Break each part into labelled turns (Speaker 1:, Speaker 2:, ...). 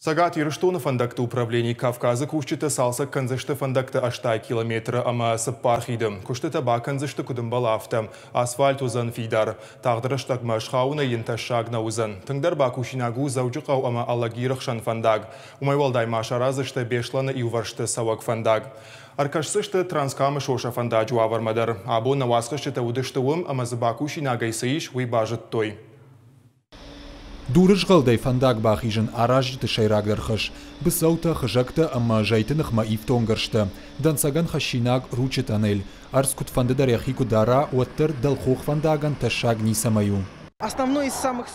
Speaker 1: Цӕгат Ирыстоны фӕндӕгты управлени Кавказы кусджытӕ цалцӕг кӕндзысты фӕндӕгты 80 километры ӕмӕ цыппар хиды. Куыстытӕ бакӕндзысты куыд ӕмбӕлы, афтӕ. Асфальт уыдзӕн фидар. Тагъд рӕстӕгмӕ схауынӕй йын тӕссаг нӕ уыдзӕн. Тынгдӕр бакусинаг у Дзӕуджыхъӕу ӕмӕ Алагиры хсӕн фӕндаг. Уымӕй уӕлдай ма сараздзысты Беслӕны иувӕрсты цӕуӕг фӕндаг. Ӕркӕсдзысты Транскамы сосӕ фӕндаджы уавӕрмӕ дӕр. Абон нӕ уацхӕсджытӕ уыдысты уым ӕмӕ дзы бакусинагӕй цы ис, уый базыдтой.
Speaker 2: Дурызгъӕлдӕй фӕндаг бахизын аразджыты сӕйрагдӕр хӕс, быцӕутӕ, хызӕгтӕ ӕмӕ зӕйты ныхмӕ ифтонггӕрзтӕ, дӕнцӕгӕн хӕссинаг Ручъы тъанель. Ӕрдз куыдфӕндыдӕр йӕхи куы дара, уӕддӕр дӕлхох фӕндагӕн тӕссаг ницӕмӕй у.
Speaker 3: Основной из самых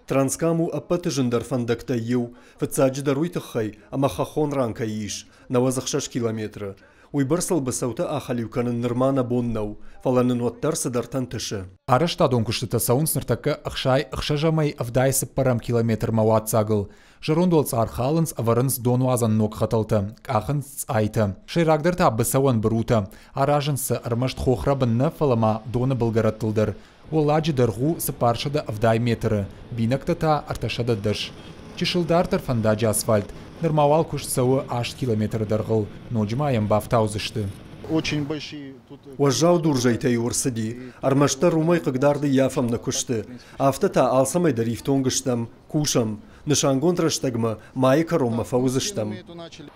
Speaker 4: Транскам у ӕппӕты зындӕр фӕндӕгтӕй иу, фыццаджыдӕр уый тыххӕй, ӕмӕ хӕххон ран кӕй ис, 96 километры. Уыйбӕрц ыл быцӕутӕ ахӕлиу кӕнын нырма нӕ бон нӕу, фӕлӕ нын уӕддӕр цыдӕртӕ ӕнтысы.
Speaker 2: Арӕзтадон куыстытӕ цӕуынц ныртӕккӕ 66 ӕмӕ 74 километрмӕ уадздзагыл. Зӕронд уӕлцъар халынц, ӕвӕрынц донуадзӕн ног хӕтӕлтӕ, къахынц цъайтӕ. Сӕйрагдӕр та быцӕуӕн бырутӕ. Аразынц сӕ ӕрмӕст хохрӕбын нӕ, фӕлӕ ма доны былгӕрӕттыл дӕр. Уӕлладжы дӕргъ у 470 метры, бинӕгтӕ та 310. Чысыл дарддӕр фӕндаджы асфальт. Нырма уал куыст цӕуы 8 километры дӕргъыл, ноджы ма йӕм бафтаудзысты.
Speaker 5: Очень большие тут
Speaker 4: Уӕззау дурзӕйтӕ-иу ӕрцыди, ӕрмӕстдӕр уымӕй хъыгдард ӕййафӕм нӕ куысты. Афтӕ та алцӕмӕй дӕр ифтонг стӕм, кусӕм. Нысангонд рӕстӕгмӕ, майы кӕронмӕ фӕуыдзыстӕм.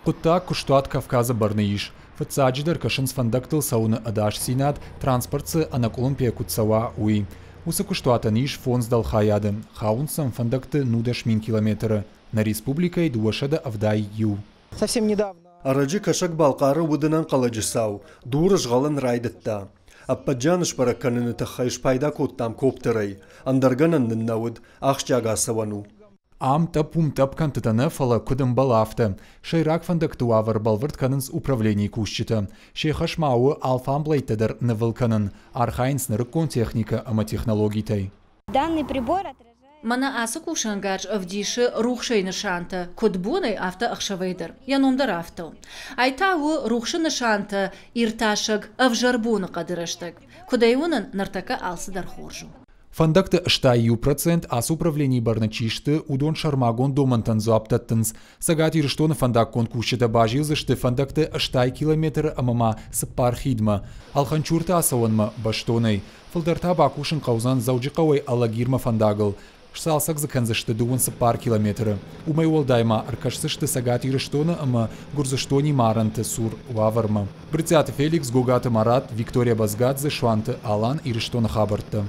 Speaker 2: Хъуыддаг куыстуат Кавказы бӕрны ис. Фыццаджыдӕр кӕсынц фӕндӕгтыл цӕуыны ӕдасдзинад, транспорт дзы ӕнӕкъуылымпыйӕ куыд цӕуа, уый. Уыцы куыстуатӕн ис фондз дӕлхайады, хауынц сӕм фӕндӕгты 19 000 километры, нӕ республикӕйы 271.
Speaker 3: Совсем недавно.
Speaker 4: Ӕрӕджы Кӕсӕг-Балхъары уыд ӕнӕнхъӕлӕджы цау, дур згъӕлын райдыдта. Ӕппӕт зиан сбӕрӕг кӕныны тыххӕй спайда кодтам коптерӕй, ӕндӕр гӕнӕн нын нӕ уыд, ахсджиаг ацӕуӕн у.
Speaker 2: Ам тъӕпп-уым тъӕпп кӕнтытӕ нӕ, фӕлӕ куыд ӕмбӕлы, афтӕ. Сӕйраг фӕндӕгты уавӕр бӕлвырд кӕнынц управленийы кусджытӕ. Се хӕс ма у алфамблӕйттӕ дӕр нывыл кӕнын, архайынц нырыккон техникӕ ӕмӕ технологитӕй.
Speaker 6: Данный прибор отражает
Speaker 7: Мӕнӕ ацы кусӕнгарз ӕвдисы рухсӕй нысантӕ, куыд бонӕй, афтӕ ӕхсӕвӕй дӕр. Йӕ ном дӕр афтӕ у. Ай та у рухсы нысантӕ иртасӕг ӕвзӕр боныхъӕды рӕстӕг. Куыд ӕй уынын, ныртӕккӕ алцыдӕр хорз у.
Speaker 2: Фӕндӕгты 61% ацы управленийы бӕрны чи сты, уыдон сӕрмагонд домӕнтӕн дзуапп дӕттынц. Цӕгат Ирыстоны фӕндаггон кусджытӕ базилдзысты фӕндӕгты 80 километры ӕмӕ ма цыппар хидмӕ. Алханчурты ацӕуӕнмӕ бӕстонӕй. Фылдӕр та бакусын хъӕудзӕн Дзӕуджыхъӕуӕй Алагирмӕ фӕндагыл. Сцалцӕг дзы кӕндзысты 24 километры. Уымӕй уӕлдай ма ӕркӕсдзысты Цӕгат Ирыстоны ӕмӕ Гуырдзыстонимӕ арӕнты цур уавӕрмӕ. Брытъиаты Феликс, Гогаты Марат, Виктория Базгадзе, Суанты Алан, Ирыстоны хабӕрттӕ.